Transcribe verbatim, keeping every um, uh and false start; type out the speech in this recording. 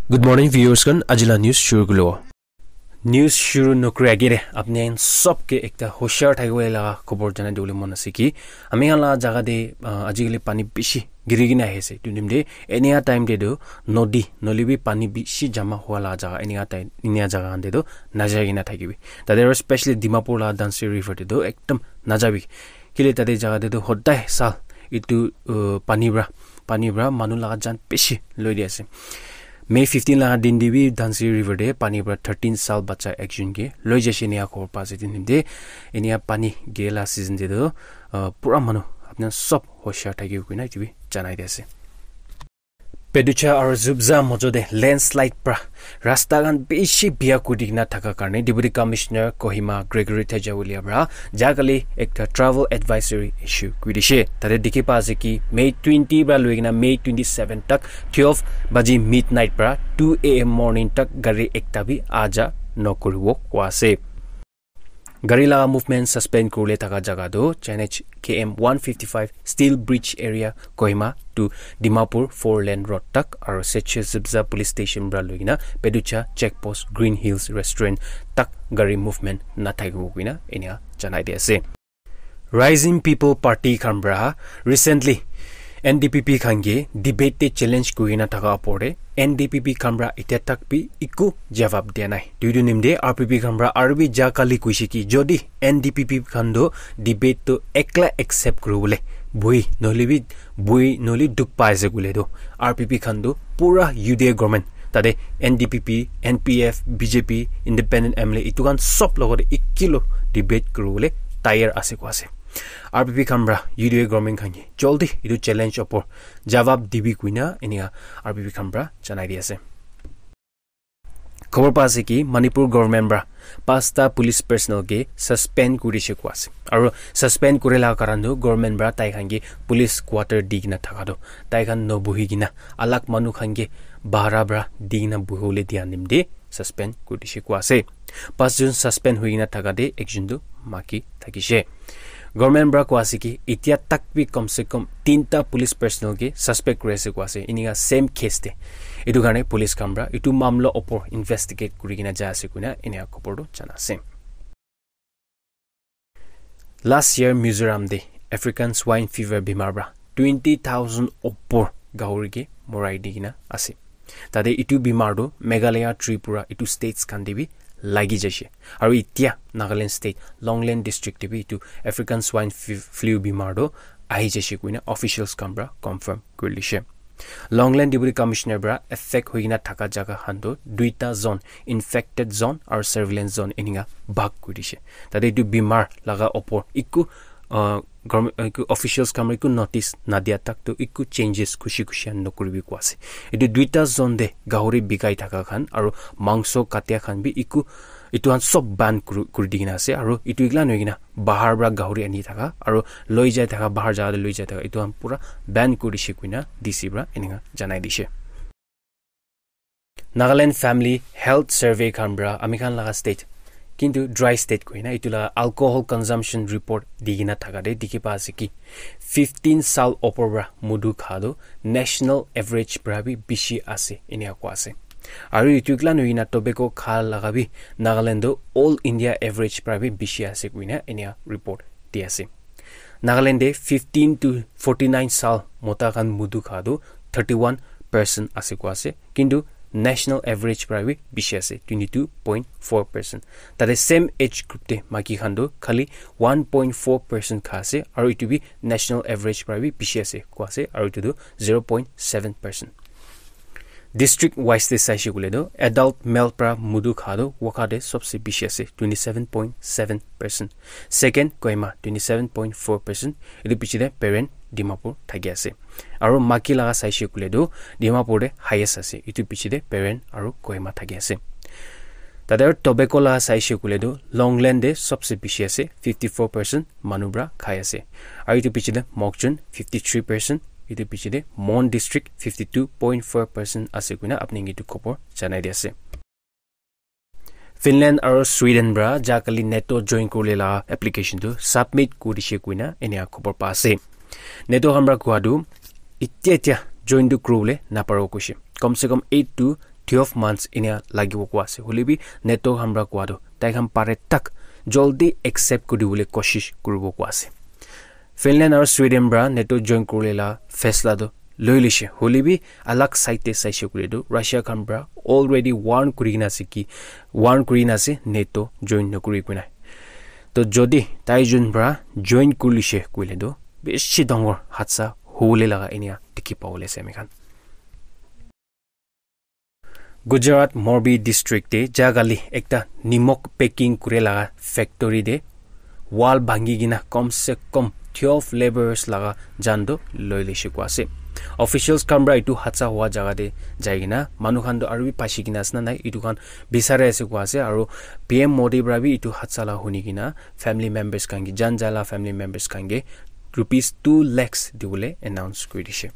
Good morning, viewers khan. Ajila news shuru kulo. News shuru nokri agere apni khan sob ke ekta hoshiyar thakibo laga khobor janai dibole mon ase ki ami khan la jaga te, ah, ajikali pani bishi giri kena ahi ase. Etu nimite enia time te tu nodi nohoilebi pani bishi jama hua la jaga enia time, enia jaga khan te tu najai kena thakibi. Tate aru specially Dimapur la Dhansiri River te tu ekdam najabi. Kile tate jaga te tu hodai sal etu, uh, pani pra, pani pra manu laga jan bishi loi di ase. May fifteen laga din te bi Dhansiri River te pani pra thirteen sal bacha ekjon ke loi jaise enia khobor pa ase. Etu nimite enia pani giri la season te tu, uh, pura manu apni khan sob hoshiyar thakibo koina etu bi janai di ase. Peducha aru Zubza mojo te landslide pra rasta khan bishi biya kuri kena thaka karne Deputy Commissioner Kohima Gregory Tejawalia pra jakali ekta travel advisory issue kuri dishe. Tate dikhi pa ase ki May twenty pra loi kena May twenty-seven tak twelve baji midnight pra two a m morning tak gari ekta bi aja nokuribo koa ase. Gari laga movement suspend kuribole thaka jaga tu N H K M one fifty-five Steel Bridge area Kohima to Dimapur four lane road tak aru Seche Zubza Police Station pra loi kena Peducha Check Post Green Hills Restaurant tak gari movement nathakibo koina enia janai di ase. Rising People Party khan pra recently N D P P khan ke debate te challenge kuri kena thaka opor te N D P P khan pra itya tak bi eku jawab dia nai. Etu nimite R P P khan pra aru bi ja kali koise ki jodi N D P P khan tu debate tu ekla accept kuribole bui nohoilebi bui nohoile dukh pai ase koile tu R P P khan tu pura U D A government tate N D P P, N P F, B J P, independent M L A etu khan sob logote ekilo debate kuribole tayar ase koa ase. R P P khan pra U D A government khan ke joldi etu challenge opor jawab dibi koina enia R P P khan pra janai di ase. Khobor pa ase ki Manipur government pra pasta police personnel ke suspend kuri dishe koa ase. Aru suspend kuri la karan tu government pra tai khan ke police quarter di kena thaka tu tai khan nobuhi kena alag manu khan ke bahara pra di kena buhibole dia nimite suspend kuri dishe koa ase. Pas jon suspend hoi kena thaka te ekjon tu maki thakishe. Government pra koa ase ki itya tak bi kom se kom tinta police personnel ke suspect kuri ase koa ase. Enika same case te. Etu karne police khan pra etu mamla opor investigate kuri kena jai ase koina enika khobor tu jana ase. Last year Mizoram te African swine fever bimar pra twenty thousand opor gahori ke morai di kena ase. Tate etu bimar tu Meghalaya, Tripura, etu states khan te bi lagi jaise. Aru itya Nagaland state, Longleng district te bi etu African swine fe-, flu bimar tu ahi jaise koina officials khan pra confirm kuri lishe. Longleng Deputy Commissioner pra affect hoi kena thaka jaga khan tu duita zone, infected zone aru surveillance zone eninka bhag kuri dishe. Tate etu bimar laga opor eku, uh, government, eku officials khan pra eku notice nadia tak tu eku changes khushi khushi khan nokuribi koa ase. Etu duita zone te gahori bikai thaka khan aru mangso katia khan bi eku etu khan sob ban kuri, kuri di kena ase aru etu ekla nohoi kena bahar pra gahori ani thaka aru loi jai thaka bahar jaga te loi jai thaka etu khan pura ban kuri dishe koina D C pra eninka janai dishe. Nagaland Family Health Survey khan pra ami khan laga state kintu dry state koina etu laga alcohol consumption report di kena thaka te dikhi pa ase ki fifteen sal opor pra mudu kha tu national average pra bi bishi ase enika koa ase. Aru etu ekla nohoi kena tobacco kha laga bi Nagaland tu all India average pra bi bishi ase koina enika report di ase. Nagaland te fifteen to forty nine sal mota khan mudu kha tu thirty one percent ase koa ase. Kintu national average pra bi bishi ase, twenty two point four percent. Tate same age group te maiki khan tu khali one point four percent kha ase, aru etu bi national average pra bi bishi ase koa ase, aru etu tu zero point seven percent. District wise te saishe koile tu adult male pra mudu kha tu Wokha te sobse bishi ase, twenty seven point seven percent. Second Kohima, twenty seven point four percent. Etu piche te Peren, Dimapur thaki ase. Aru maiki laga saishe koile tu Dimapur te highest ase, etu piche te Peren aru Kohima thaki ase. Tate aru tobacco laga saishe koile tu Longleng te sobse bishi ase, fifty four percent manu pra khai ase. Aru etu piche te Mokokchung, fifty three percent, etu piche te Mon District, fifty two point four percent ase koina apni ke etu khobor janai di ase. Finland aru Sweden pra ja kali NATO join kuribole laga application tu submit kuri dishe koina enika khobor pa ase. NATO khan pra koa tu itya itya join tu kuribole naparibo koishe. Kom se kom eight to twelve months enia lagibo koa ase. Hoilebi NATO khan pra koa tu tai khan pare tak joldi accept kuri dibole koshish kuribo koa ase. Finland aro Sweden pra NATO join kuribole la faisla tu loi lishe. Hoilebi alag side te saishe koile tu Russia khan pra already warn kuri kena ase ki, warn kuri kena ase NATO join nokuri koina. To jodi tai jun pra join kuri lishe koile tu bishi dangor hadsa hobole laga enia dikhi pabole ase ami khan. Gujarat Morbi district te jagali ekta nimok packing kure laga factory te wall bhangi kena kom se kom twelve laborers laga jan tu loi lishe koa ase. Officials khan pra etu hadsa hua jaga te jai kena manu khan tu aru bi pasi kena ase na nai etu khan bisari ase koa ase, aru P M Modi pra bi etu hadsa la huni kena family members khan ke, jan jala family members khan ke rupees two lakhs dibole announce kuri dishe.